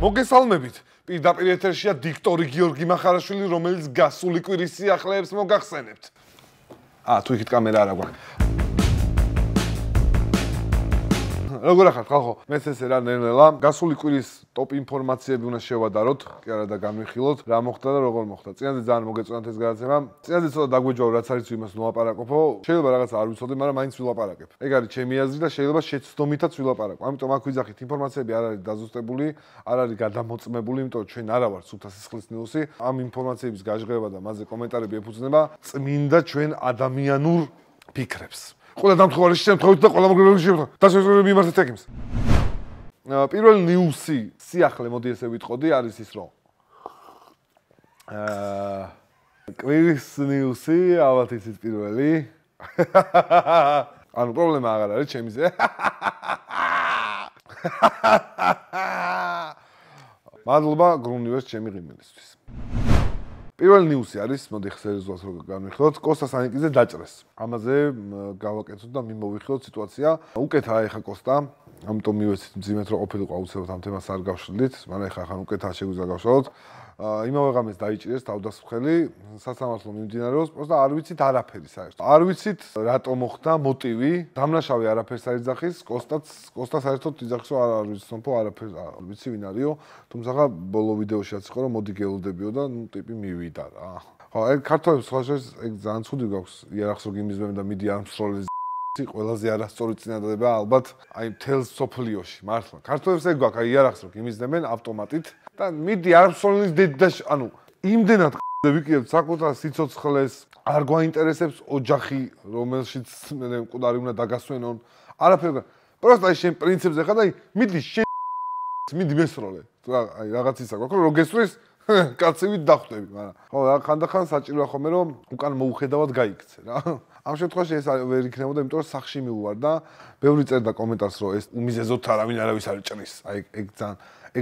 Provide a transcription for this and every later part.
მოგესალმებით. პირდაპირ ეთერშია დიქტორი გიორგი მახარაშვილი, რომელიც გასული კვირის სიახლეებს მოგახსენებთ. თუ იქით კამერა არა გვაქვს. როგორ ახართ ხალხო? მეც ესე რა ნელ-ნელა. გასული კვირის ტოპ ინფორმაციები უნდა შევადაროთ, კი არა და განვიხილოთ, რა მოხდა და როგორ მოხდა. წინაზე ძალიან მოგეწონათ ეს გადაცემა. წინაზე ცოტა დაგვეჯვაო, რაც არის იმას ვლაპარაკობო. შეიძლება რაღაცა არ ვიცოდი, მაგრამ მაინც ვილაპარაკებ. ეგ არის ჩემი აზრი და შეიძლება შეცდომითაც ვილაპარაკო. ამიტომ აქ ვიძახით, ინფორმაციები არ არის დაზუსტებული, არ არის გადამოწმებული, იმიტომ ჩვენ არა ვართ სულთა სისხლის ნიუსი. ამ ინფორმაციების გაჟღერება და მასზე კომენტარები ეფუძნება წმინდა ჩვენ ადამიანურ ფიქრებს. ყველა დამთხოვარი შემთხვევით და ყველა მოგრებების შემთხვევით. დასაშვებები მიმართეთ ეკიმს. პირველი ნიუსი, სიახლე, მოდი ესე ვიტყოდი, არის ის, რომ კვირის ნიუსი, ალბათ იცით პირველი. ანუ პრობლემა აღარ არის ჩემიზე. მადლობა გრუნივერს ჩემი ღიმილისთვის. პირველი ნიუსი არის, მოდი ხსერეზვას რო განვიხილოთ, კოსტა სანიკიძე დაჭრეს. ამაზე გავაკეთოთ და მიმოვიხილოთ სიტუაცია. უკეთა ეხა კოსტა, ამიტომ მივეცით მძიმედ რო ყოფილიყო აუცილებლად ამ თემას არ გავშლით, მაგრამ ეხა ხან უკეთაა შეგვიძლია გავშალოთ. იმავე ღამეს დაიჭირეს თავდასხმელი, სასამართლო მიმდინარეობს, პროსტა არ ვიცით არაფერი საერთოდ. არ ვიცით რატო მოხდა მოტივი, დამნაშავე არაფერს არ იძახის, კოსტა საერთოდ იძახის, რომ არ ვიცი სომფო არაფერს არ ვიცი ვინ არისო, თუმცა ბოლო ვიდეოში რაც იყო, რომ მოდი გელოდებიო და ნუ ტიპი მივიდა რა. ხო, ეგ ქართველებს სხვა შორის ეგ ძალიან ცუდი გვაქვს, იარაღს რო გიმიზმენ და მიდი არმსროლეს ყველაზე არასწორი წინადადება ალბათ აი მთელ სოფლიოში მართლა. ქართველებს ეგ გვაქვს, აი იარაღს რო გიმიზნებენ ავტომატით და მიდი არმსროლის დედაში, ანუ იმდენად ვიკიებთ საკუთარ სიცოცხლეს, არ გვაინტერესებს ოჯახი, რომელშიც მე მკვდარი უნდა დაგასვენონ, არაფერი. პროსტა აი შენ პრინციპზე ხარ და აი მიდი მესროლე. აი რაღაც ისა გვაქვს, რომ გესვრის კაცივით დახვდები, მაგრამ ხო, ხანდახან საჭიროა ხოლმე რომ უკან მოუხედავად გაიქცე რა. ამ შემთხვევაში ეს ვერ იქნებოდა, იმიტომ რომ სახში მივუვარ და ბევრი წერდა კომენტარს, რომ ეს უმიზეზოთ არავინ არავის არ ჭრის. აი ეგ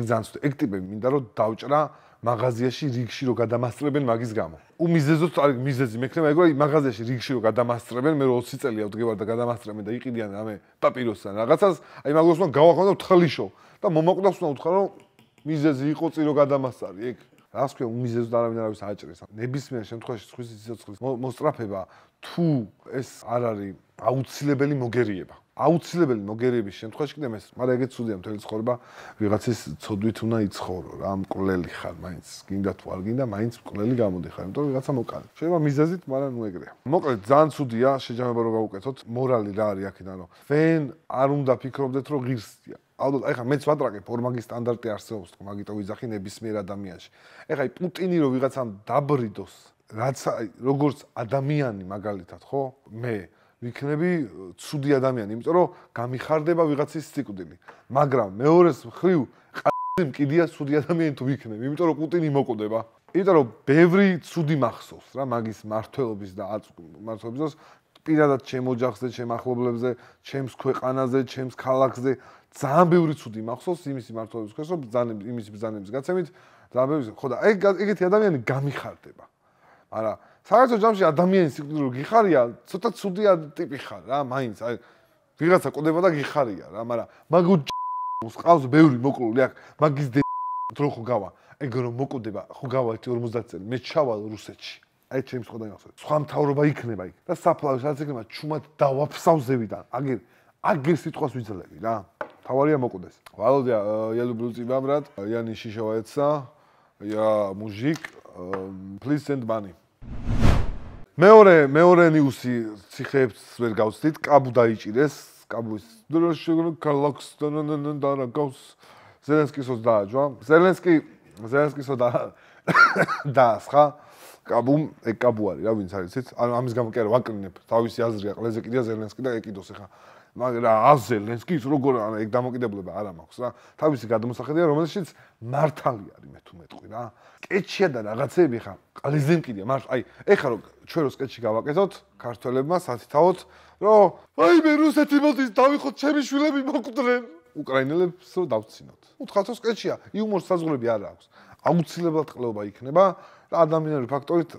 ძალიან ცუდი. ეგ ტიპები მინდა რომ დავჭრა მაღაზიაში რიგში რომ გადამასწრებენ მაგის გამო. უმიზეზოთ არის მიზეზი მექნება, ეგ რომ მაღაზიაში რიგში რომ გადამასწრებენ, მე 20 წელია ვდგევარ და გადამასწრებენ და იყიდიან რამე პაპიროსთან რაღაცას, აი მაგას უნდა გავახმო და თხლიშო და მომაკვდავს უნდა უთხრა რომ მიზეზი იყო წირო გადამასწარი ეგ. რას ქვია უმიზეზოდ არავინ არავის აჭრეს. ნებისმიერ შემთხვევაში სხვის სიცოცხლის მოსწრაფება თუ ეს არ არის აუცილებელი მოგერიება. აუცილებელი მოგერიების შემთხვევაში კიდე ეს, მაგრამ ეგეც ცუდია მთელი ცხოვრება ვიღაცის ცოდვით უნდა იცხოვრო რა, მკვლელი ხარ, მაინც გინდა თუ არ გინდა, მაინც მკვლელი გამოდი ხარ, იმიტომ რომ ვიღაცა მოკალე. შეიძლება მიზეზით, მაგრამ ნუ ეგრეა. მოკლედ ძალიან ცუდია შეჯამება რომ გავუკეთოთ, მორალი რა არის აქედან რომ ვენ არ უნდა ფიქრობდეთ რომ ღირსია. ალბათ, ეხლა მეც ვატრაკებ ორმაგი სტანდარტი არსებობს, მაგიტო ვიძახი ნებისმიერ ადამიანში. ეხლა პუტინი რო ვიღაცამ დაბრიდოს, რაც როგორც ადამიანი მაგალითად, ხო? მე ვიქნები ცუდი ადამიანი, იმიტომ რომ გამიხარდება ვიღაცის სიკვდილი. მაგრამ მეორეს მხრივ მკიდია ცუდი ადამიანი თუ ვიქნები, იმიტომ რომ პუტინი მოკვდება. იმიტომ რომ ბევრი ცუდი მახსოვს რა მაგის მართლობის და მართლობის პირადად ჩემ ოჯახზე, ჩემ ახლობლებზე, ჩემს ქვეყანაზე, ჩემს ქალაქზე ძალიან ბევრი ცუდი მახსოვს იმისი მართლობის ქვეშ, რომ იმისი ბრძანების გაცემით ძალიან ბევრი ხო და ეგეთი ადამიანი გამიხარდება. მაგრამ საერთო ჯამში ადამიანის სიკვდილი რო გიხარია, ცოტა ცუდი ტიპი ხარ რა, მაინც აი ვიღაცა კვდება და გიხარია რა, მაგრამ მაგ ყავს ბევრი მოკლული აქ, მაგის დრო ხო გავა. ეგ რომ მოკვდება, ხო გავა 50 წელი, მე ჩავალ რუსეთში. აი ჩემს ხოდა იმახსოვს. სხვა მთავრობა იქნება იქ და საფლავი რაც იქნება, ჩუმად დავაფსავ ზევიდან. აგერ სიტყვას ვიძლები რა. თავარია მოკვდეს. Володя, я люблю тебя, брат. Я не шишевается. Я мужик. Please send money. მეორე ნიუსი ციხეებს ვერ გავცდით. კაბუ დაიჭირეს. კაბუის დროში ქალაქს ზელენსკისოს დააჯვა. ზელენსკისო დაასხა. კაბუ ეგ კაბუ არის რა ვინც არის იცით? ანუ ამის გამო კი არა ვაკრინებ. თავისი აზრია ყველაზე კიდია ზელენსკი და ეკიდოს ახლა. მაგრამ ზელენსკის როგორ ეგ დამოკიდებულება არ მაქვს რა. თავისი გადმოსახედია, რომელშიც მართალი არის მე თუ მეტყვი რა. კეთშია და რაღაცეები ხა ყველაზე მკიდია. აი ეხლა რომ ჩვენ რო სკეთში გავაკეთოთ ქართველებმა სათითაოდ, რომ აი მე რუსეთი მოდის დავიხოთ ჩემი შვილები მოკვდნენ. უკრაინელებს დავცინოთ. უთხათო სკეთშია, იუმორს საზღვრები არ აქვს. აუცილებლად ყლეობა იქნება. და ადამიანური ფაქტორით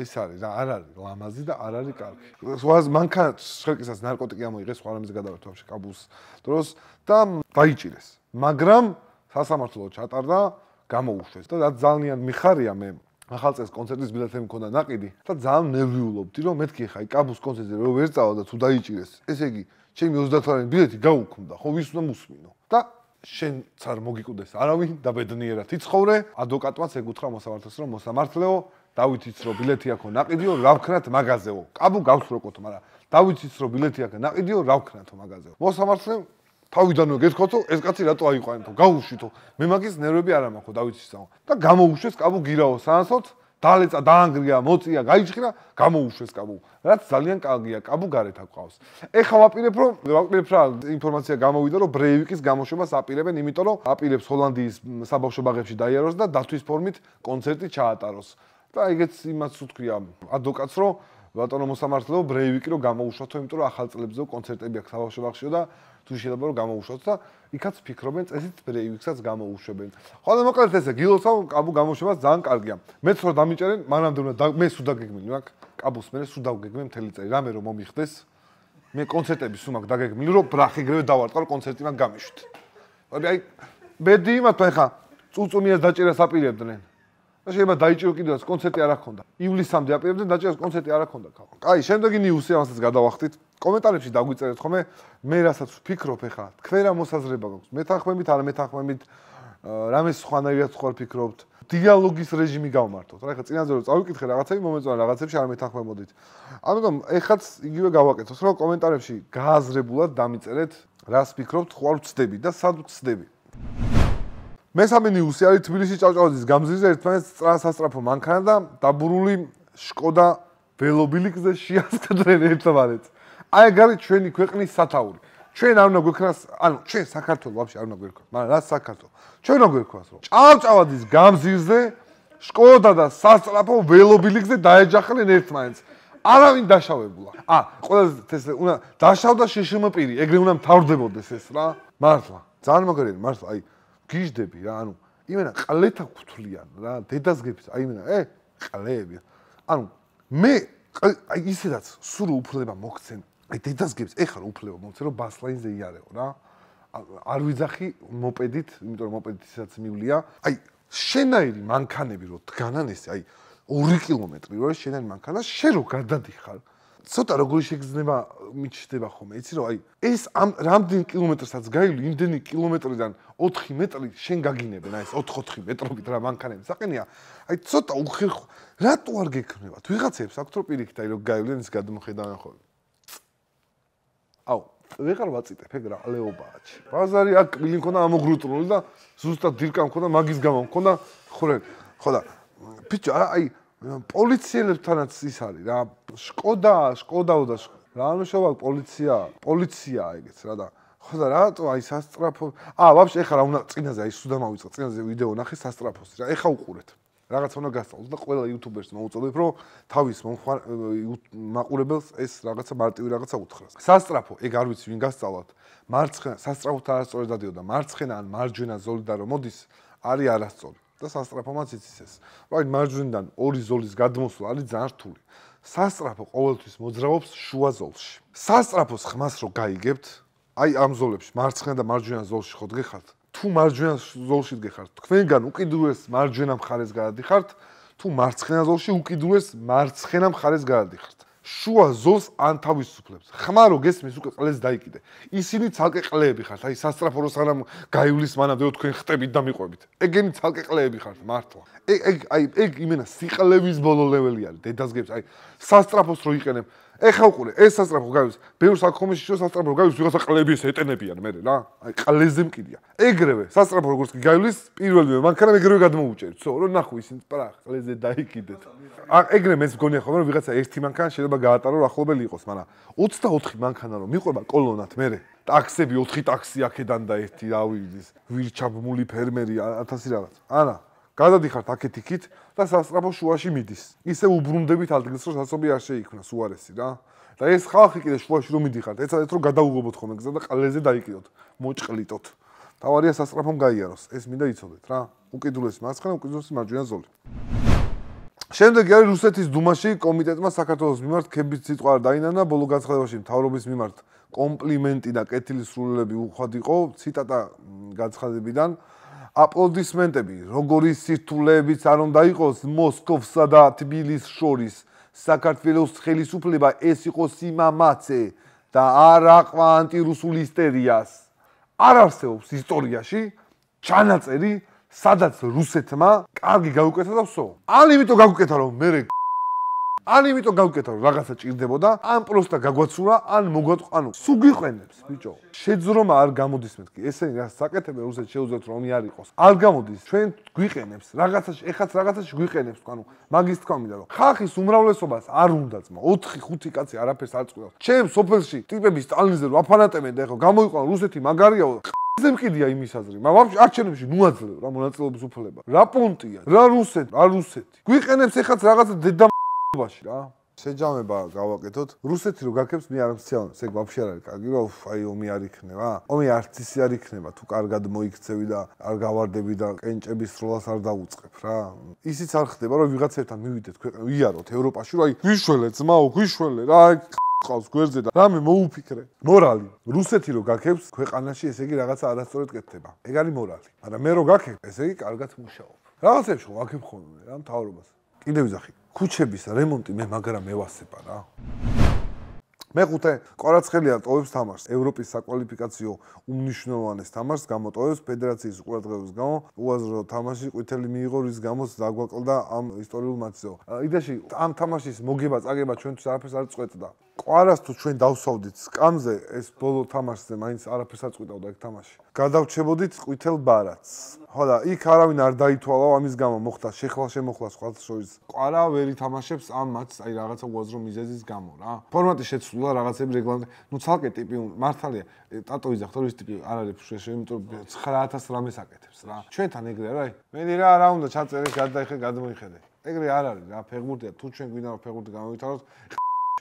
ის არის რა, არ არის ლამაზი და არ არის კარგი. მანქანა შეკისაც ნარკოტიკი ამოიღეს, სხვა რამეზე გადავართ ვაფშე კაბულს დროს და დაიჭირეს. მაგრამ სასამართლო ჩატარდა, გამოუშვეს და რაც ძალიან მიხარია მე ახალწელს კონცერტის ბილეთები მქონდა ნაყიდი და ძალიან ნერვიულობდი რომ მეთქი ხა კაბუს კონცერტზე რო ვერ წავა და თუ დაიჭირეს ესე იგი ჩემი 30 ბილეთი გაუქმდა ხო ვის უნდა მოსმინო და შენც არ მოგიკუდეს არავინ და ბედნიერად იცხოვრე ადვოკატმაც ეგუთხრა მოსამართლეს რომ მოსამართლეო დავითიც რომ ბილეთი აქო ნაყიდიო რა ვქნათ მაღაზეო კაბუ გავს როკოთო მაგრამ დავითიც რომ ბილეთი აქ ნაყიდიო რა ვქნათო მაღაზეო მოსამართლე თავიდანვე გეთქვათო ეს კაცი რატო აიყვანეთო გაუშვითო მე მაგის ნერვები არ ამაქვს დავითისაო და გამოუშვეს კაბუ გირაო სანსოთ დალეცა დაანგრია მოწია გაიჭხრა გამოუშვეს კაბუ რაც ძალიან კარგია კაბუ გარეთ აყავს ეხლა ვაპირებ რა ინფორმაცია გამოვიდა რომ ბრეივიკის გამოშვებას აპირებენ იმიტომ რომ აპირებს ჰოლანდიის საბავშვო ბაღებში დაიაროს და დათვის ფორმით კონცერტი ჩაატაროს და ეგეც იმას უთქვია ადვოკატს რომ ბატონო მოსამართლეო ბრეივიკი რომ გამოუშვათო იმიტომ რომ ახალ წლებზეო კონცერტები აქვს საბავშვო ბაღშიო და თუ შეიძლება რომ გამოუშვათ და იქაც ფიქრობენ წესით ბრეივიკსაც გამოუშვებენ. ხოლო მოკლედ ესე გილოცავ კაბუ გამოშვებას ძალიან კარგია. მეც რომ დამიჭერენ მანამდე უნდა მე სულ დაგეგმილი მაქვს კაბუს მე სულ დავგეგმე მთელი წელი რამე რომ მომიხდეს მე კონცერტები სულ მაქვს დაგეგმილი რომ ბრახიგრევე დავარტყარ კონცერტი მაგ გამიშვით. აი ბედი იმათ ახლა წუწუნიას დაჭერას აპირებდნენ. და შეიძლება დაიჭირო კიდევაც კონცერტი არ აქვს. ივლისამდე აპირებდნენ დაჭერას კონცერტი არ აქვს. კაი, შემდეგი ნიუსი ამასაც გადავახტით. კომენტარებში დაგვიწერეთ ხოლმე მე რასაც ვფიქრობ ახლა თქვენ რა მოსაზრება გაქვს მეთანხმებით არა მეთანხმებით რამე სხვანაირად სხვა ვფიქრობთ დიალოგის რეჟიმი გავმართოთ რა ახლა წინაზე რომ წავიკითხე რაღაცები მომეწონა რაღაცებში არ მეთანხმებოდით ამიტომ ეხაც იგივე გავაკეთოთ რომ კომენტარებში გააზრებულად დამიწერეთ რას ფიქრობთ ხვალ ვცდები და სად ვცდები მესამე ნიუსი არის თბილისის ჭავჭავაძის გამზირზე ერთმანეთს სასწრაფო მანქანა და დაბურული შკოდა ველობილიკზე შეასკდრენ ერთმანეთს აი ეგ არის ჩვენი ქვეყნის სათაური. ჩვენ არ უნდა გვექნას, ანუ ჩვენ საქართველოს ვაფშე არ უნდა გვექნას, მაგრამ რა საქართველოს? ჩვენ უნდა გვექნას რომ ჭავჭავაძის გამზირზე შკოდა და სასწრაფო ველობილიკზე დაეჯახნენ ერთმანეთს. არავინ დაშავებულა. ყველაზე ეს უნდა დაშავდა შშმპ-ი, ეგრე უნდა მთავრდებოდეს ეს რა. მართლა. ძალიან მაგარია, მართლა, აი გიждები რა, ანუ იმენა ყლეთა გუთვლიან რა, დედას გეფს, აი იმენა, ყლეები. ანუ მე აი ისედაც სულ უფლება მოგცენ აი დედას გებს ეხლა უფლება მოგცენ რომ ბასლაინზე იარეო რა არ ვიძახი მოპედით იმიტომ რომ მოპედით ისაც მივლია აი შენაირი მანქანები რო დგანან ესე აი 2 კილომეტრი რო შენაირი მანქანა შენ რო გადადიხარ ცოტა როგორი შეგრძნება მიჩნდება ხოლმე იცი რომ აი ეს ამ რამდენი კილომეტრსაც გაივლი იმდენი კილომეტრიდან 4 მეტრი შენ გაგინებენ აი ეს 4 მეტრობით რა მანქანები საყენია აი ცოტა უხერხო რატო არ გექნებათ ვიღაცებს აქვთ რომ პირიქით აი რომ გაივლენ ის გადმოხედავენ ხოლმე აუ ვეღარ ვაწიტებ ეგ რა ლეობააჩი ბაზარი აქ კბილი მქონდა ამოგრუტული და ზუსტად დირკა მქონდა მაგის გამო მქონდა ხურელი ხო და ბიჭო აი პოლიციელებთანაც ის არის რა შკოდაო და რა მნიშვნელობა პოლიცია ეგეც რა და ხო და რატო აი სასტრაფო ვაფშე ეხლა რა უნდა წინაზე აი სულ დამავიწყე წინაზე ვიდეო ნახე სასტრაფოს რა ეხლა უყურეთ რაღაც უნდა გასწავლოთ და ყველა იუთუბერს მოუწოდებ რომ თავის მაყურებელს ეს რაღაცა მარტივი რაღაცა უთხრას სასტრაფო ეგ არ ვიცი ვინ გასწავლოთ მარცხენა სასტრაფოთან არასწორად დადიოდა მარცხენა ან მარჯვენა ზოლიდან რომ მოდის არის არასწორი და სასტრაფომაც იცის ეს რა მარჯვნიდან ორი ზოლის გადმოსვლა არის ძალიან რთული სასტრაფო ყოველთვის მოძრაობს შუა ზოლში სასტრაფოს ხმას რო გაიგებთ აი ამ ზოლებში მარცხენა და მარჯვენა ზოლში ხო დგეხართ თუ მარჯვენა ზოლში დგეხართ თქვენგან უკიდურეს მარჯვენა მხარეს გადადიხართ თუ მარცხენა ზოლში უკიდურეს მარცხენა მხარეს გადადიხართ შუა ზოლს ან თავისუფლებს ხმა რო გესმის უკვე ყლეს დაიკიდე ისინი ცალკე ყლეები ხართ აი სასტრაფო რო სანამ გაივლის მანამდე თქვენ ხტებით და მიყვებით ეგენი ცალკე ყლეები ხართ მართლა ეგ იმენა სიყლევის ბოლო ლეველი არის დედას გებს აი სასტრაფოს რო იყენებ ეხა უყურე ეს სასტრაფო გაივლის ბევრს აქ ხომში შუა სასტრაფო გაივლის ვიღაცა ყლეები ეს ეტენებიან მე რა აი ყლეზე მკიდია ეგრევე სასტრაფო როგორც კი გაივლის პირველივე მანქანა ეგრევე გადმოუჭერთ ხო რომ ნახო ისინი პრახ ყლეზე დაიკიდეთ ეგრე მეც მგონია ხოლმე რომ ვიღაცა ერთი მანქანა შეიძლება გაატარო ახლობელი იყოს მაგრამ 24 მანქანა რომ მიყვება კოლონად მე ტაქსები 4 ტაქსი აქედან და ერთი რავი ვირჩაბმული ფერმერი 1000 რაღაც არა გადადიხართ აქეთ იქით და სასტრაფო შუაში მიდის. ისე უბრუნდებით ადგილს რომ სასწობი არ შეიქმნას უარესი რა. და ეს ხალხი კიდე შუაში რომ მიდიხართ, ეცადეთ რომ გადაუღობოთ ხოლმე გზა და ყლეზე დაიკიდოთ, მოჭყლიტოთ. თავარია სასტრაფომ გაიაროს, ეს მინდა იცოდეთ რა. უკიდურესი მარცხენა, უკიდურესი მარჯვენა ზოლი. შემდეგი არის რუსეთის დუმაში კომიტეტმა საქართველოს მიმართ ქების სიტყვა არ დაინანა, ბოლო განცხადებაში მთავრობის მიმართ კომპლიმენტი და კეთილი სრულელები უხვად იყო, ციტატა განცხადებიდან აპლოდისმენტები, როგორი სირთულეებიც არ უნდა იყოს მოსკოვსა და თბილისს შორის, საქართველოს ხელისუფლება ეს იყო სიმამაცე და არ აყვა ანტირუსულ ისტორიას. არ არსებობს ისტორიაში ჩანაწერი, სადაც რუსეთმა კარგი გაუკეთა და ვსო. ან იმიტომ გაუკეთა, რომ მე ან იმიტომ გავკეთა რომ რაღაცა ჭირდებოდა, ან პროსტა გაგვაცურა, ან მოგვატყანო. სულ გვიყენებს, ბიჭო. შეძრომა არ გამოდის მეთქი. ესენი რა საკეთებენ რუსეთს შეუძლებთ რომ არ იყოს. არ გამოდის, ჩვენ გვიყენებს, რაღაცაში, ეხაც რაღაცაში გვიყენებს, ანუ მაგის თქვა მინდა რომ ხალხის უმრავლესობას არ უნდაც, 4-5 კაცი არაფერს არ წყვეტავს. ჩემ სოფელში ტიპები სტალინზე რო აფანატებენ და ეხლა გამოიყვანო რუსეთი მაგარიაო. ზე მყიდია იმის აზრი. ვაფშე არჩევნებში ნუაძლევ რა მონაწილეობის უფლება. რა პონტია, რა რუსეთი. გვიყენებს ეხაც რაღაცა დედა ბაში რა. შეჯამება გავაკეთოთ. რუსეთი რო გაქებს მე არ მციან, ეგ ვაფშე არ არის კარგი, რომ აი ომი არ იქნება. ომი არც ისე არ იქნება, თუ კარგად მოიქცევი და არ გავარდები და კენჭების სროლას არ დაუწყებ რა. ისიც არ ხდება, რომ ვიღაცებთან მივიდეთ ქვეყნა, ვიაროთ ევროპაში, რომ აი გვიშველე ძმაო, გვიშველე რა, ყავს გვერდზე და რამე მოუფიქრე. მორალი. რუსეთი რო გაქებს ქვეყანაში, ესე იგი რაღაცა არასწორად კეთდება. ეგ არის მორალი. მაგრამ მე რო გაქებ, ესე იგი კარგად მუშაობ. რაღაცებს ხო ვაქებ ხოლმე რა მთავრობას. კიდევ ვიზახი. ქუჩების რემონტი მე მაგრამ მევასება რა. მეხუთე, კვარაცხელია ტოვებს თამაშს. ევროპის საკვალიფიკაციო უმნიშვნელოვანეს თამაშს გამოტოვებს ფედერაციის ყურადღების გამო. უაზრო თამაში ყვითელი მიიღო, რის გამოც დაგვაკლდა ამ ისტორიულ მატჩზე. იდეაში ამ თამაშის მოგება, წაგება ჩვენთვის არაფერს არ წყვეტდა. კვარას თუ ჩვენ დავსვავდით სკამზე, ეს ბოლო თამაშზე მაინც არაფერს არ წყვეტავდა ეგ თამაში. გადავჩებოდით ყვითელ ბარათს. ხო და იქ არავინ არ დაითვალა, ამის გამო მოხდა შეხლა-შემოხლა სხვათა შორის. კვარა ვერ ითამაშებს ამ მატჩს, აი რაღაცა უაზრო მიზეზის გამო რა. ფორმატი შეცვლა, რაღაცები რეგლამენტი. ნუ ცალკე ტიპი მართალია, ტატო ვიზახთ, რომ ის ტიპი არ არის ფშეში, იმიტომ 9000 რამეს აკეთებს რა. ჩვენთან ეგრე არა, მე რა უნდა ჩაწერე, გადაიხე, გადმოიხედე. ეგრე არ არის რა, ფეხბურთია, თუ ჩვენ გვინდა რომ ფეხბურთი გამოვითაროთ,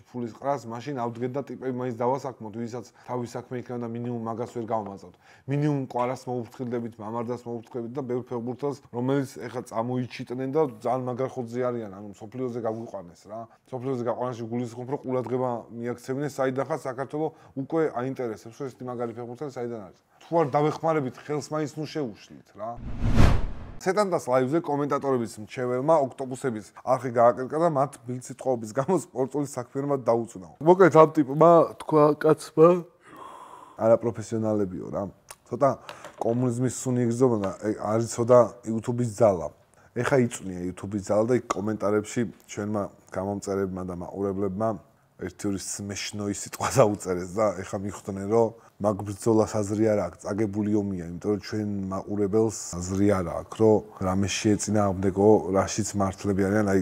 ფულის ყრას, მაშინ ავდგეთ და ტიპები მაინც დავასაქმოთ, ვისაც თავის საქმე იქნება და მინიმუმ მაგას ვერ გავამაწავთ. მინიმუმ კვარას მოუფრთხილდებით, მამარდას მოუფრთხილდებით და ბევრ ფეხბურთელს, რომელიც ეხლა წამოიჩიტნენ და ძალიან მაგარ ხოძზე არიან, ანუ სოფლიოზე გაგვიყვანეს რა. სოფლიოზე გაყვანაში გულისხმობ, რომ ყურადღება მიაქცევინეს, საიდან ხარ საქართველოს უკვე აინტერესებს, რომ ეს მაგარი ფეხბურთელი საიდან არის. თუ არ დავეხმარებით, ხელს მაინც ნუ შეუშლით რა. სეტანდას ლაივზე კომენტატორების მრჩეველმა ოქტოპუსების არხი გააკრიტიკა და მათ ბილდსიტყვაობის გამო სპორტული საქმიანობა დაუწუნა. მოკლედ ამ ტიპმა თქვა კაცმა არაპროფესიონალებიო რა. ცოტა კომუნიზმის სუნი იგრძნობა და არის ცოტა YouTube-ის ძალა. ეხა იწვნია YouTube-ის ძალა და იქ კომენტარებში ჩვენმა გამომწერებმა და მაყურებლებმა ერთი-ორი სმეშნოი სიტყვა დაუწერეს და ეხა მიხვდნენ რომ მაგ ბრძოლას აზრი არ აქვს, წაგებული ომია, იმიტომ რომ ჩვენ მაყურებელს აზრი არ აქვს, რომ რამე შეეწინააღმდეგო, რაშიც მართლები არიან, აი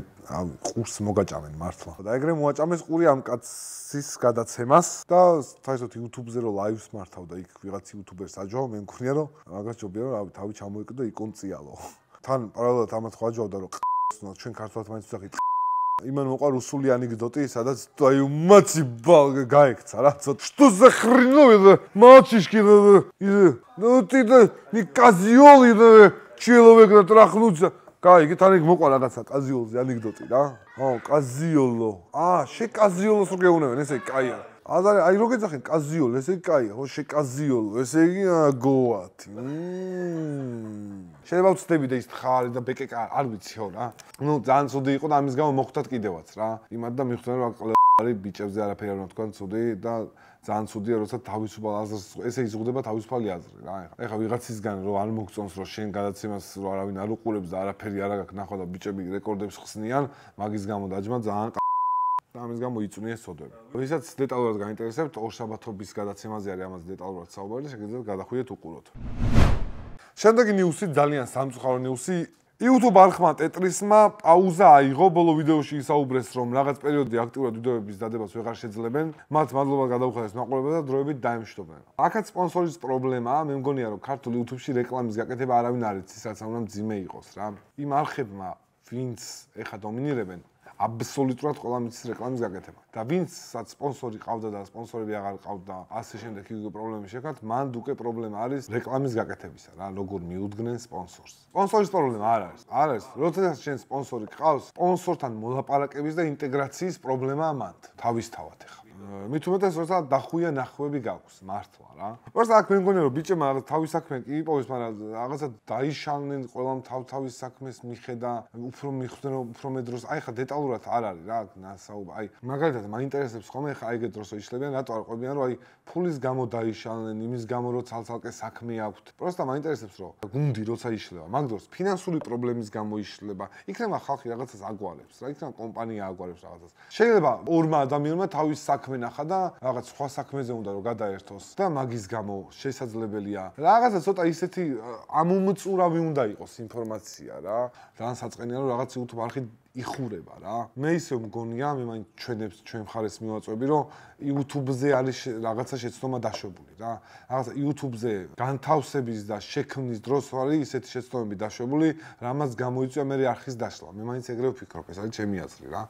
ყურს მოგაჭამენ მართლა. და ეგრე მოაჭამეს ყური ამ კაცის გადაცემას და თაისოთ YouTube-ზე რომ ლაივს მართავდა იქ ვიღაც YouTuber-ს აჯობა, მე მგონია რომ მაგას ჯობია რომ თავი ჩამოიკიდო და იკონციალო. თან პარალელურად ამათ ხვაჯავდა რომ ჩვენ ქართულად მაინც ვსახით იმან მოყვა რუსული ანეკდოტი, სადაც აი მაცი გაიქცა რა, ცოტა. Что за хреновина? Мальчишки, ну ты не козёл, человек натрахнуться. Кай, თან იქ მოყვა რაღაცა კაზიოლზე ანეკდოტი რა. ხო, კაზიოლო. შეკაზიოლოს რო გეუნებენ, ესე კაია. აზარი, აი რო გეძახენ კაზიოლო, ესე კაია, ხო, შეკაზიოლო, ესე იგი გოათი. შეიძლება ვწდები და ის თხარი და ბეკეკა არ ვიცი ხო რა. ნუ ძალიან ცუდი იყო და ამის გამო მოხვდათ კიდევაც რა. იმად და მიხვდნენ რომ ყლარი ბიჭებზე არაფერი არ უნდა თქვა ცუდი და ძალიან ცუდია როცა თავისუფალ აზრს ესე იზღუდება თავისუფალი აზრი რა. ეხლა ვიღაცისგან რომ არ მოგწონს რომ შენ გადაცემას რომ არავინ არ უყურებს და არაფერი არ აქვს ნახვა და ბიჭები რეკორდებს ხსნიან, მაგის გამო დაჯმა ძალიან და ამის გამო იწვნიეს ცოდვები. ვისაც დეტალურად გაინტერესებთ, ორშაბათობის გადაცემაზე არის ამაზე დეტალურად საუბარი, შეგიძლიათ გადახვიდეთ უყუროთ. შემდეგი ნიუსი ძალიან სამწუხარო ნიუსი. YouTube არხმა ტეტრისმა პაუზა აიღო, ბოლო ვიდეოში ისაუბრეს, რომ რაღაც პერიოდი აქტიურად ვიდეოების დადებას ვეღარ შეძლებენ, მათ მადლობა გადაუხადეს მაყურებელს და დროებით დაემშვიდობენ. აქაც სპონსორის პრობლემაა, მე მგონია რომ ქართულ YouTube-ში რეკლამის გაკეთება არავინ არ იცის, რაც უნდა მძიმე იყოს რა. იმ არხებმა, ვინც ეხა დომინირებენ, აბსოლუტურად ყველა მიცის რეკლამის გაკეთება. და ვინცაც სპონსორი ყავდა და სპონსორები აღარ ყავდა, ასე შემდეგ იგი პრობლემები შექმნათ, მანდ უკვე პრობლემა არის რეკლამის გაკეთებისა რა, როგორ მიუდგნენ სპონსორს. სპონსორის პრობლემა არ არის. არ არის. როდესაც შენ სპონსორი ყავს, სპონსორთან მოლაპარაკების და ინტეგრაციის პრობლემაა მანდ. თავისთავად ეხლა. მით უმეტეს როცა დახუია ნახვები გაქვს მართლა რა. პროსტა აქ მე მგონია რომ ბიჭებმა თავის საქმე კი იპოვეს, მაგრამ რაღაცა დაიშალნენ ყველამ თავის საქმეს მიხედა, უფრო მიხვდნენ უფრო მე დროს. აი ხა დეტალურად არ არის რა, აი მაგალითად მაინტერესებს ხოლმე ხა ეგეთ დროს იშლებიან, რატო არ ყვებიან რომ აი ფულის გამო დაიშალნენ, იმის გამო რომ ცალ-ცალკე საქმე აქვთ. პროსტა მაინტერესებს რომ გუნდი როცა იშლება, მაგ დროს ფინანსური პრობლემის გამო იშლება. იქნება ხალხი რაღაცას აგვარებს რა, იქნება კომპანია აგვარებს რაღაცას. შეიძლება ორმა ადამიანმა თავის საქმე ნახა და რაღაც სხვა საქმეზე უნდა რომ გადაერთოს და მაგის გამო შესაძლებელია რაღაცა ცოტა ისეთი ამომწურავი უნდა იყოს ინფორმაცია რა. ძალიან საწყენია რომ რაღაც YouTube არხი იხურება რა. მე ისე მგონია, მე მაინც ჩვენ მხარეს მივაწვევი, რომ YouTube-ზე არის რაღაცა შეცდომა დაშვებული რა. რაღაცა YouTube-ზე განთავსების და შექმნის დროს არის ისეთი შეცდომები დაშვებული, რამაც გამოიწვია მე არხის დაშლა. მე მაინც ეგრევე ვფიქრობ, ეს არის ჩემი აზრი რა.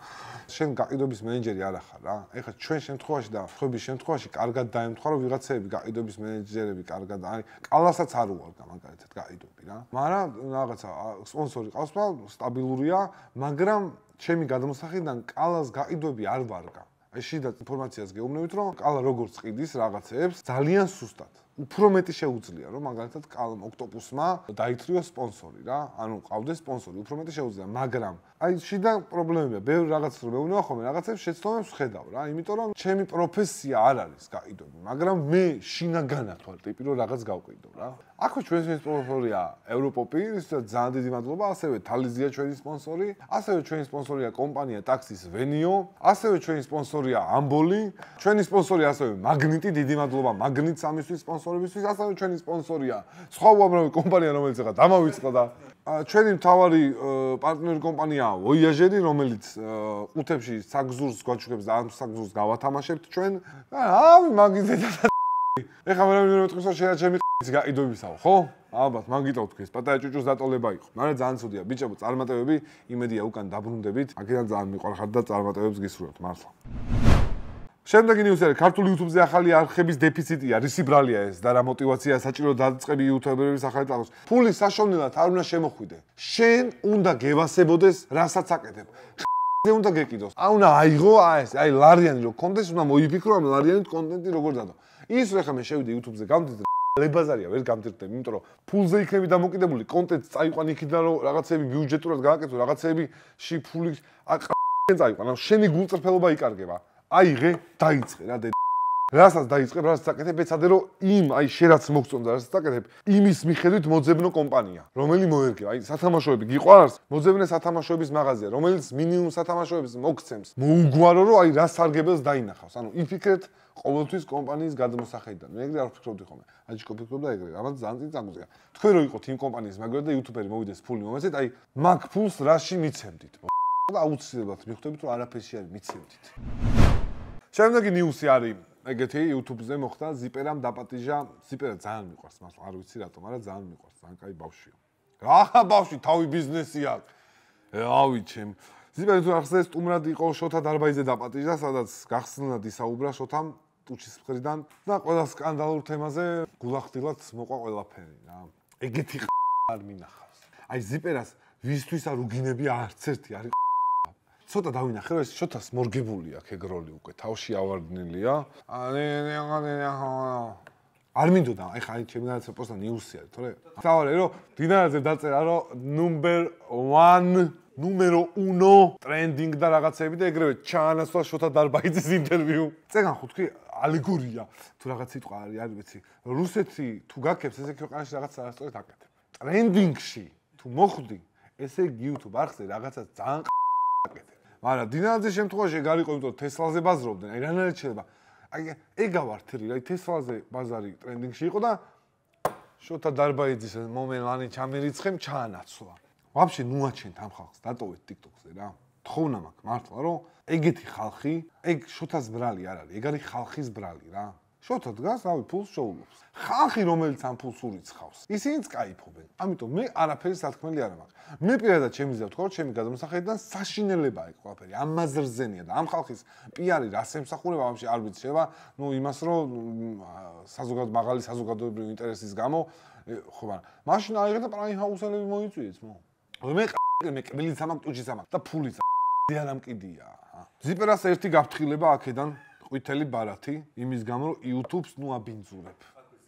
შენ გაყიდვების მენეჯერი არ ახარ რა. ეხლა ჩვენ შემთხვევაში და ხვების შემთხვევაში კარგად დაემთხვა, რომ ვიღაცები გაყიდვების მენეჯერები კარგად არის. კალასაც არ უარდა მაგალითად გაყიდვები რა. მაგრამ რაღაცა სპონსორი ყავს და სტაბილურია, მაგრამ ჩემი გადმოსახედიდან კალას გაყიდვები არ ვარგა. აი შიდა ინფორმაციას გეუბნებით, რომ კალა როგორც ყიდის რაღაცებს ძალიან სუსტად. უფრო მეტი შეუძლია, რომ მაგალითად კალამ ოქტოპუსმა დაითრიოს სპონსორი რა. ანუ ყავდეს სპონსორი, უფრო მეტი შეუძლია, მაგრამ აი შიდა პრობლემებია. ბევრი რაღაცას რომ მეუბნება ხოლმე, რაღაცებს შეცდომებს ვხედავ რა, იმიტომ რომ ჩემი პროფესია არ არის გაყიდვები, მაგრამ მე შინაგანად ვარ ტიპი, რომ რაღაც გავყიდო რა. აქვე ჩვენი სპონსორია ევროპოპი, ისაც ძალიან დიდი მადლობა, ასევე თალიზია ჩვენი სპონსორი, ასევე ჩვენი სპონსორია კომპანია ტაქსის ვენიო, ასევე ჩვენი სპონსორია ამბოლი, ჩვენი სპონსორი ასევე მაგნიტი, დიდი მადლობა მაგნიტს ამისთვის სპონსორებისთვის, ასევე ჩვენი სპონსორია სხვა უამრავი კომპანია, რომელიც ახლა დამავიწყდა და ჩვენი მთავარი პარტნიორი კომპანია ვოიაჟერი, რომელიც ყუთებში საგზურს გვაჩუქებს და ამ საგზურს გავათამაშებთ ჩვენ. ავი მაგის ზედა. ეხლა მე მეთქვის რომ შეიძლება ჩემი გაიდვებისაო, ხო? ალბათ, მან გიტოვთ ეს პატარა ჭუჭუს დატოლება იყო. მაგრამ ძალიან ცუდია, ბიჭებო, წარმატებები, იმედია უკან დაბრუნდებით. აქედან ძალიან მიყვარხართ და წარმატებებს გისურვებთ, მართლა. შემდეგი ნიუსი არის ქართული YouTube-ზე ახალი არხების დეფიციტია, რისი ბრალია ეს და რა мотиваციაა საჭირო დაწყები YouTuber-ების ახალი ტალღოს. ფული საშოვნელად არ უნდა შემოხვიდე. შენ უნდა გევასებოდეს, რასაც აკეთებ. ზე უნდა გეკიდოს. უნდა აიღო აი ლარიანი რო კონტენტს უნდა მოიფიქრო ამ ლარიანით კონტენტი როგორ დადო. ის რა ხა მე შევიდე YouTube-ზე გამდიდრე ლებაზარია ვერ გამდიდრდები, იმიტომ რომ ფულზე იქნები დამოკიდებული, კონტენტს წაიყვან იქიდან რომ რაღაცები ბიუჯეტურად გააკეთო, რაღაცეებში ფული წაიყვან, ანუ შენი გულწრფელობა იკარგება. აიღე, დაიწყე რა დედა. რასაც დაიწყებ, რასაც აკეთებ, ეცადე რომ იმ აი შენ რაც მოგწონდა, რასაც აკეთებ, იმის მიხედვით მოძებნო კომპანია, რომელიც მოერგება. აი სათამაშოები გიყვარს, მოძებნე სათამაშოების მაღაზია, რომელიც მინიმუმ სათამაშოებს მოგცემს. მოუგვარო რომ აი რა სარგებელს დაინახავს. ანუ იფიქრეთ ყოველთვის კომპანიის გადმოსახედიდან. მე ეგრე არ ვფიქრობდი ხოლმე. აჯიკო ფიქრობდა ეგრე, რამაც ძალიან წინ წამოწია. თქვენ რო იყოთ იმ კომპანიის მაგალითად და იუთუბერი მოვიდეს ფული მომეცეთ, აი მაგ ფულს რაში მიცემდით? და აუცილებლად მიხვდებით რომ არაფერში არ მიცემდით. შემდეგი ნიუსი არის ეგეთი YouTube-ზე მოხდა ზიპერამ დაპატიჟა, ზიპერა ძალიან მიყვარს, მართლა არ ვიცი რატომ, მაგრამ ძალიან მიყვარს, ძალიან კაი ბავშვია. რა ბავშვი, თავი ბიზნესი აქვს. ავი ჩემ. ზიპერა თუ ახსენე სტუმრად იყო შოთა დარბაიძე დაპატიჟა, სადაც გახსნილად ისაუბრა შოთამ ტუჩის მხრიდან და ყველა სკანდალურ თემაზე გულახდილად მოყვა ყველაფერი რა. ეგეთი არ მინახავს. აი ზიპერას ვისთვის არ უგინებია არც ერთი არის. ცოტა დავინახე რომ ეს შოთას მორგებული აქვს ეგ როლი უკვე თავში ავარდნილია. არ მინდოდა, ეხლა აი ჩემი განაცხადი პოსტა ნიუსი არის, თორე თავარი რომ დინარაძე დაწერა რომ ნუმერო 1 ტრენდინგ და რაღაცები და ეგრევე ჩაანაცვლა შოთა დარბაიძის ინტერვიუ. წეგან ხო თქვი ალეგორია თუ რაღაც სიტყვა არის, არ ვიცი. რუსეთი თუ გაქებს ესე ქვეყანაში რაღაც არასწორად აკეთებ. ტრენდინგში თუ მოხვდი, ესე YouTube არხზე რაღაცა ძალიან აკეთებ. მაგრამ დინარაძის შემთხვევაში ეგ არ იყო, იმიტომ რომ თესლაზე ბაზრობდნენ. აი რანაირად შეიძლება? აი ეგავართრი, აი თესლაზე ბაზარი ტრენდინგში იყო და შოთა დარბაიძის მომენტლანი ჩამერიცხემ ჩაანაცვლა. ვაფშე ნუაჩენთ ამ ხალხს, დატოვეთ TikTok-ზე რა. თხოვნა მაქვს მართლა რომ ეგეთი ხალხი, ეგ შოთას ბრალი არ არის, ეგ არის ხალხის ბრალი რა. შოთა დგას, რავი, ფულს შოულობს. ხალხი რომელიც ამ ფულს ურიცხავს, ისინიც კაიფობენ. ამიტომ მე არაფერი სათქმელი არ მაქვს. მე პირადად ჩემი ზე ვთქვა, რომ ჩემი გადამოსახედიდან საშინელებაა ეგ ყველაფერი. ამაზრზენია და ამ ხალხის პიარი რას ემსახურება ვაფშე არ ვიცი, შევა, იმას რომ მაღალი საზოგადოებრივი ინტერესის გამო, ხო მაგრამ მაშინ აიღე და პრაიმ ჰაუსელები მოიწვიეს, მე კბილიც ამაკ ტუჩის ამაკ და ფულიც ძალიან ამკიდია. ზიპერას ერთი გაფრთხილება აქედან ყვითელი ბარათი, იმის გამო რომ YouTube-ს ნუ აბინძურებ.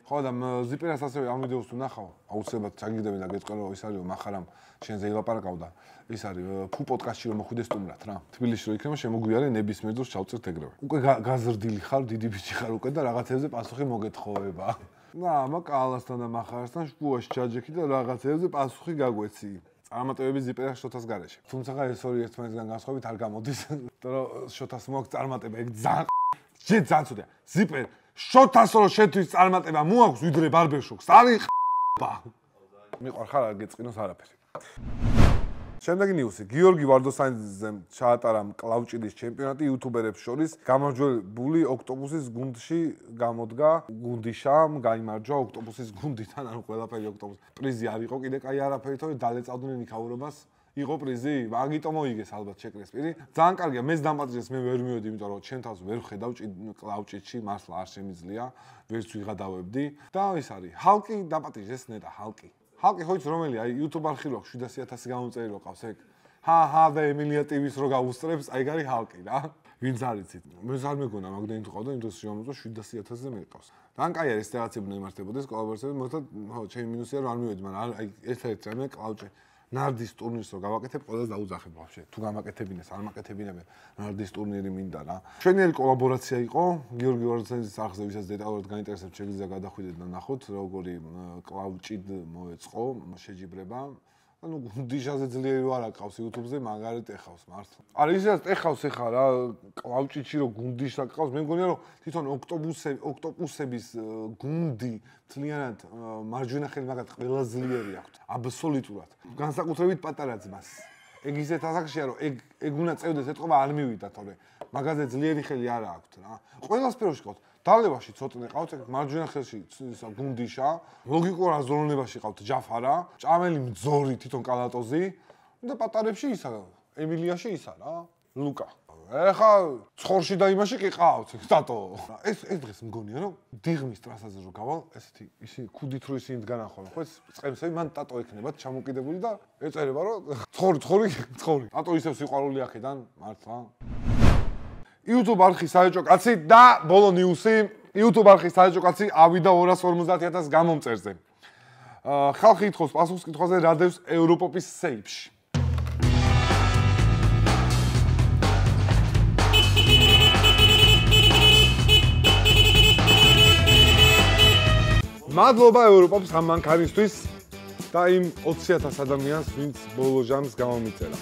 ხო და ზიპერას ასევე ამ ვიდეოს თუ ნახავ, აუცილებლად ჩაგიგდებენ და გეტყვენ რომ ის არის მახარამ შენზე ილაპარაკავ და ის არის ფუ პოდკასტში რომ მოხვიდე სტუმრად რა. თბილისში რო იქნება შემოგვიარე ნებისმიერ დროს ჩავწერ ეგრევე. უკვე გაზრდილი ხარ, დიდი ბიჭი ხარ უკვე და რაღაცებზე პასუხი მოგეთხოვება. და მაკალასთან და მახარასთან შუაში ჩაჯექი და რაღაცებზე პასუხი გაგვეცი. წარმატებები ზიპერას შოთას გარეშე. თუმცა ეს ორი ერთმანეთისგან განსხვავებით არ გამოდის, იმიტომ რომ შოთას მოაქვს წარმატება, ეგ ძალიან ცუდია. ზიპერ შოთას რო შეთვის წარმატება მოაქვს ვიდრე ბარბერშოპს. არის ხ***ბა. მიყვარხარ არ გეწყინოს არაფერი. შემდეგი ნიუსი. გიორგი ვარდოსანიძემ ჩაატარა კლავჭიდის ჩემპიონატი იუთუბერებს შორის. გამარჯვებული ოქტოპუსის გუნდში გამოდგა გუნდიშამ, გაიმარჯვა ოქტოპუსის გუნდიდან, ანუ ყველაფერი ოქტოპუსი. პრიზი არ იყო კიდე კაი არაფერი, თორე დალეწავდნენ იქაურობას. იყო პრიზი, მაგიტომ მოიგეს ალბათ შეკრეს პირი. ძალიან კარგია, მეც დამპატიჟეს, მე ვერ მივედი, იმიტომ რომ ჩემ თავს ვერ ხედავ კლავჭიდში, მართლა არ შემიძლია, ვერც ვიღადავებდი და ის არის. ჰალკი დამპატიჟეს ნეტა, ჰალკი. ჰალკი ხო იცი რომელია? აი YouTube არხი რო 700.000 გამომწერი რო ყავს ეგ. ჰა და ემილია TV-ს რო გაუსწრებს, აი გარი ჰალკი რა. ვინც არ იცით? მე არ მეგონა მაგდენი თუ ყავდა, იმიტომ რომ შემოწო 700.000-ზე მეყავს. ძალიან კაი არის რაღაცები ნემართებოდეს კოლაბორაციები, მოხდა ჩემი მინუსია რომ არ მივედი, მაგრამ აი ერთ-ერთი რამე კლავჭი. ნარდის ტურნირს რო გავაკეთებ, ყველას დაუძახებ ვაფშე. თუ გამაკეთებინეს, არ მაკეთებინებენ, ნარდის ტურნირი მინდა რა. ჩვენიერი კოლაბორაცია იყო, გიორგი ვარდოსანიძის არხზე, ვისაც დეტალურად გაინტერესებთ, შეგვიძლია გადახვიდეთ და ნახოთ, როგორი კლავჭიდ მოეწყო შეჯიბრება. ანუ გუნდიშაზე ძლიერი ვარ აკავს YouTube-ზე, მაგარით ეხავს მართლა. არა, ისაც ეხავს ეხა რა, კლავჭიდში რო გუნდიშს აკავს, მე მგონია რომ თვითონ ოქტოპუსების გუნდი თლიანად მარჯვენა ხელი მაგათ ყველა ძლიერი აქვთ, აბსოლუტურად. განსაკუთრებით პატარა ძმას. ეგ ისეთ ასაკშია რომ ეგ უნდა წევდეს ეთყობა არ მივიდა თორე მაგაზე ძლიერი ხელი არა აქვთ რა. ყველა სფეროში ყავთ. დალევაში ცოტნე ყავთ, მარჯვენა ხელში გუნდიშა, ლოგიკურ აზროვნებაში ყავთ ჯაფარა, ჭამელი მძორი თვითონ კალატოზი და პატარებში ისა ემილიაში ისა რა, ლუკა. ეხა ცხორში და იმაში კი ყავთ, სტატო. ეს დღეს მგონია რომ დიღმის ტრასაზე რო გავალ, ესეთი ისი ქუდით რო ისინი დგანახავენ, ხო ეს წემსები მან ტატო ექნებათ ჩამოკიდებული და ეწერება რომ ცხორი. ტატო ისევ სიყვარული აქედან, მართლა. YouTube არხის საეჭო კაცი და ბოლო ნიუსი, YouTube არხის საეჭო კაცი ავიდა 250.000 გამომწერზე. ხალხი ითხოვს პასუხს კითხვაზე რა დევს ევროპოპის სეიფში. მადლობა ევროპოპს ამ მანქანისთვის და იმ 20.000 ადამიანს, ვინც ბოლო ჟამს გამომიწერა.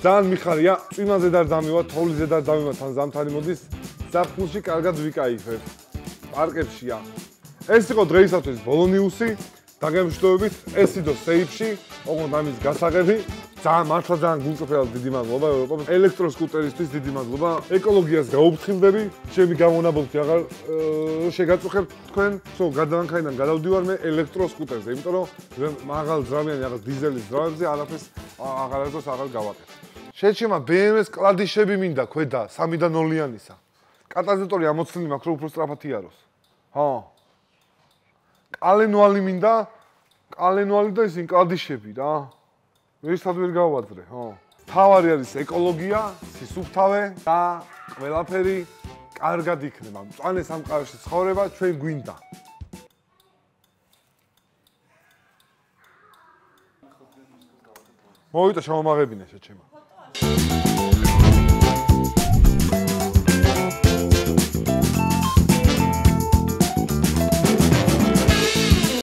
ძალიან მიხარია, წვიმაზე და დამივა, თოვლიზე და დამივა, თან ზამთარი მოდის, ზაფხულში კარგად ვიკაიფებ. პარკებშია. ეს იყო დღეისათვის ბოლო ნიუსი, დაგემშვიდობებით, ეს იყო სეიფში, ოღონდ ამის გასაღები. მართლა ძალიან გულწრფელად დიდი მადლობა ევროპას, ელექტროსკუტერისთვის დიდი მადლობა, ეკოლოგიას გაუფრთხილდები, ჩემი გამონაბოლქვი აღარ შეგაწუხებთ თქვენ, სულ გადავანქაიდან გადავდივარ მე ელექტროსკუტერზე, იმიტომ რომ მაღალ ძრავიანი რაღაც დიზელის ძრავებზე არაფერს აღარასდროს აღარ გავაკეთებ. შეჩემა BMW-ს კლადიშები მინდა ქვედა 3 და 0-იანისა. კატალიზატორი ამოცლილი მაქვს, რომ უფრო სწრაფად იაროს. ხო. კალენვალი მინდა, კალენვალი და ისინი კლადიშები რა. ვერცად ვერ გავაძრე, ხო. თავარი არის ეკოლოგია, სისუფთავე და ყველაფერი კარგად იქნება. მწვანე სამყაროში ცხოვრება ჩვენ გვინდა. მოვიდა შემომაღებინე შეჩემა.